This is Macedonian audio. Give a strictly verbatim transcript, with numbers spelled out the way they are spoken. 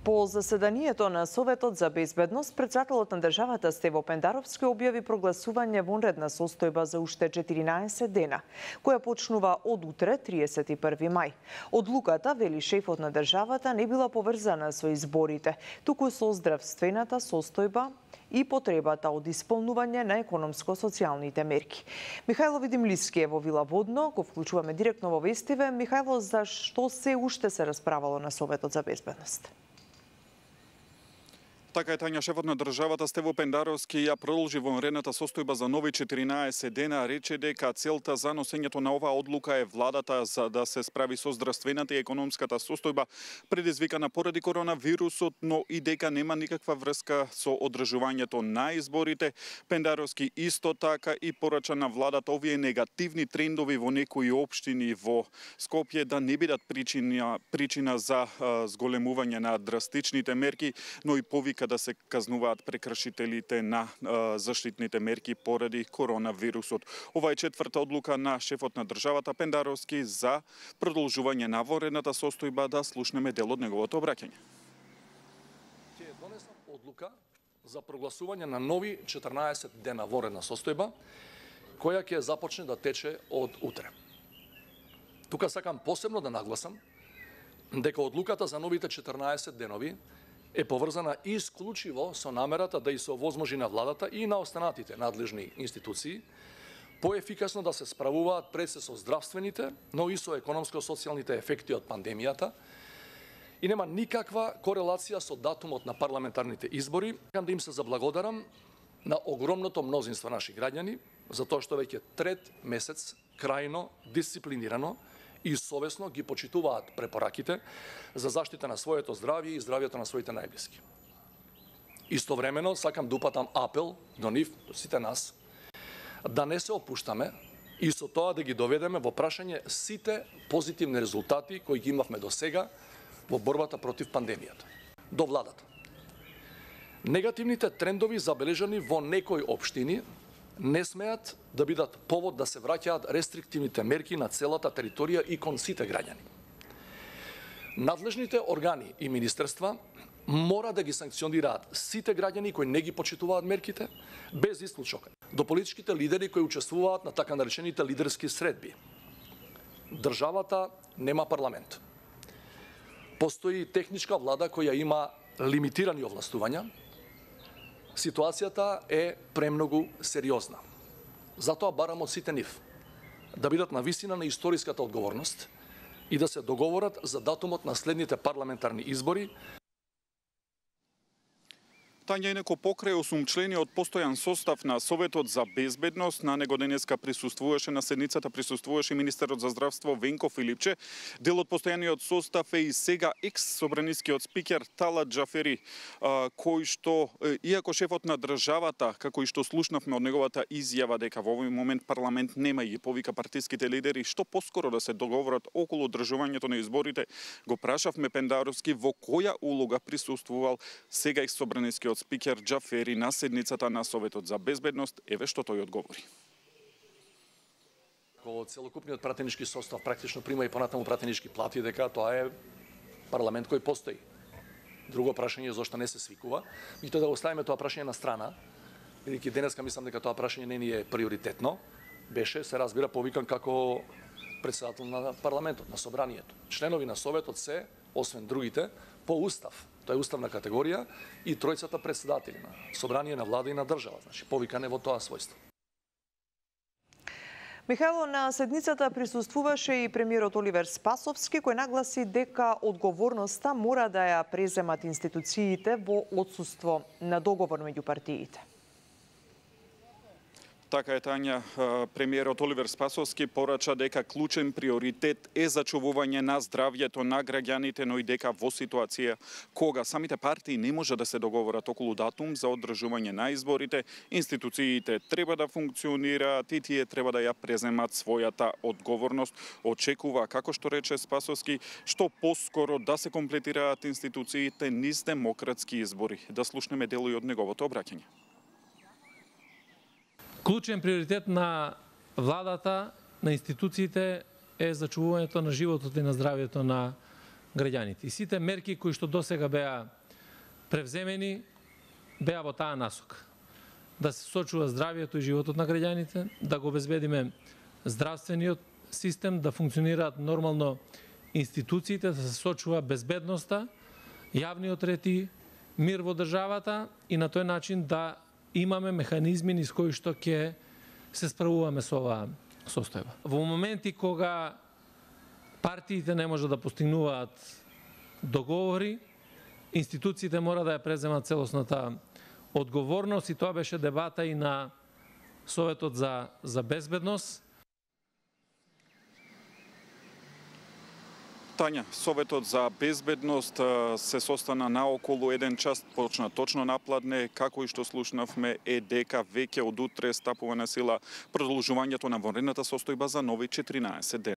По заседанието на Советот за безбедност, председателот на државата Стево Пендаровски објави прогласување вонредна состојба за уште четиринаесет дена, која почнува од утре, триесет и први мај. Одлуката, вели шефот на државата, не била поврзана со изборите, туку со здравствената состојба и потребата од исполнување на економско-социјалните мерки. Михајло Видимлиски е во Вила Водно, го вклучуваме директно во вестиве. Михајло, за што се уште се расправало на Советот за безбедност? Така е, Тања, шефот на државата Стево Пендаровски ја продолжи вонредната состојба за нови четиринаесет дена, рече дека целта за носењето на оваа одлука е владата за да се справи со здравствената и економската состојба предизвикана поради коронавирусот, но и дека нема никаква врска со одржувањето на изборите. Пендаровски исто така и порача на владата овие негативни трендови во некои општини во Скопје да не бидат причина, причина за а, зголемување на драстичните мерки, но и повика да се казнуваат прекршителите на а, заштитните мерки поради коронавирусот. Ова е четврта одлука на шефот на државата Пендаровски за продолжување на вонредната состојба. Да слушнеме дел од неговото обраќање. Ќе донесам одлука за прогласување на нови четиринаесет дена вонредна состојба, која ќе започне да тече од утре. Тука сакам посебно да нагласам дека одлуката за новите четиринаесет денови е поврзана исклучиво со намерата да и се овозможи на владата и на останатите надлежни институции поефикасно да се справуваат пред се со здравствените, но и со економско-социјалните ефекти од пандемијата и нема никаква корелација со датумот на парламентарните избори. Сакам да им се заблагодарам на огромното мнозинство наши граѓани за тоа што веќе трет месец крајно дисциплинирано и совесно ги почитуваат препораките за заштита на своето здравје и здравјето на своите најблиски. Истовремено сакам да упатам апел до нив, до сите нас, да не се опуштаме и со тоа да ги доведеме во прашање сите позитивни резултати кои ги имавме до сега во борбата против пандемијата. До владата. Негативните трендови забележани во некои општини не смеат да бидат повод да се враќаат рестриктивните мерки на целата територија и кон сите граѓани. Надлежните органи и министерства мора да ги санкционираат сите граѓани кои не ги почитуваат мерките, без исклучок. До политичките лидери кои учествуваат на така наречените лидерски средби. Државата нема парламент. Постои техничка влада која има лимитирани овластувања. Ситуацијата е премногу сериозна. Затоа барам од сите нив да бидат на висина на историската одговорност и да се договорат за датумот на следните парламентарни избори. Тања, инаку покрај осумчлениот постојан состав на Советот за безбедност, на него денеска присуствуваше, на седницата присуствуваше министерот за здравство Венко Филипче. Дел од постојаниот состав е и сега екс-собранискиот спикер Талат Џафери, кој што, иако шефот на државата, како и што слушнавме од неговата изјава дека во овој момент парламент нема и ги повика партиските лидери, што поскоро да се договорат околу одржувањето на изборите, го прашавме Пендаровски во која улога присуствувал сега екс-собранискиот спикер Џафери на седницата на Советот за безбедност. Еве што тој одговори. Кога целокупниот пратенички состав практично прима и понатаму пратенички плати, дека тоа е парламент кој постои. Друго прашање е зошто не се свикува. Меѓутоа да го оставиме тоа прашање на страна, бидејќи денеска мислам дека тоа прашање не ни е приоритетно. Беше, се разбира, повикан како председател на парламентот, на собранието. Членови на Советот се, освен другите, по устав. Тоа е уставна категорија и тројцата председатели на собрание, на влада и на држава. Значи, повикане во тоа својство. Михајло, на седницата присуствуваше и премиерот Оливер Спасовски, кој нагласи дека одговорноста мора да ја преземат институциите во отсуство на договор меѓу партиите. Така е, Тања, премиерот Оливер Спасовски порача дека клучен приоритет е зачувување на здравјето на граѓаните, но и дека во ситуација кога самите партии не може да се договорат околу датум за одржување на изборите, институциите треба да функционираат и тие треба да ја преземат својата одговорност. Очекува, како што рече Спасовски, што поскоро да се комплетираат институциите низ демократски избори. Да слушнеме дел и од неговото обраќање. Клучен приоритет на владата, на институциите е зачувувањето на животот и на здравјето на граѓаните. И сите мерки кои што досега беа превземени, беа во таа насока. Да се сочува здравието и животот на граѓаните, да го обезбедиме здравствениот систем, да функционираат нормално институциите, да се сочува безбедноста, јавниот ред и мир во државата и на тој начин да имаме механизми низ кои што ќе се справуваме со оваа состојба. Во моменти кога партиите не може да постигнуваат договори, институциите мора да ја преземат целосната одговорност и тоа беше дебата и на Советот за, за безбедност. Тања, Советот за безбедност се состана наоколу еден час, почна точно напладне, како и што слушнавме е дека веќе од утре стапува на сила продолжувањето на вонредната состојба за нови четиринаесет дена.